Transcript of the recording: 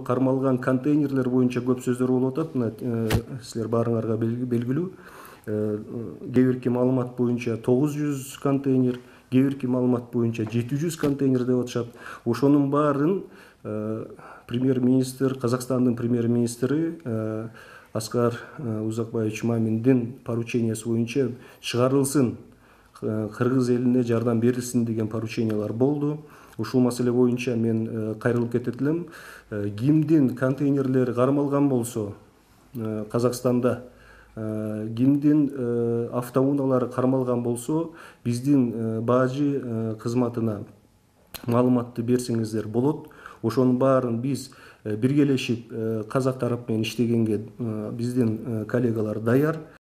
кармалган контейнерлер боюнча көп сөздөр болуп атат. Мына силер баарыңарга белгилүү. Кээ бирки маалымат боюнча 900 контейнер, кээ бирки маалымат боюнча 700 контейнер деп атышат. Ошонун баарын премьер-министр, Казакстандын премьер-министри Аскар Узакбаевич Маминдин поручениясы боюнча чыгарылсын, кыргыз элине жардам берилсин деген поручениялар болду. Ушул маселе боюнча мен кайрылып кетет элем. Кимдин контейнерлери кармалган болсо Казакстанда, кимдин автоунаалары кармалган болсо, биздин бажы кызматына маалыматты берсеңиздер болот. Ошонун баарын биз биргелешип казак тарап менен иштегенге биздин коллегалар даяр.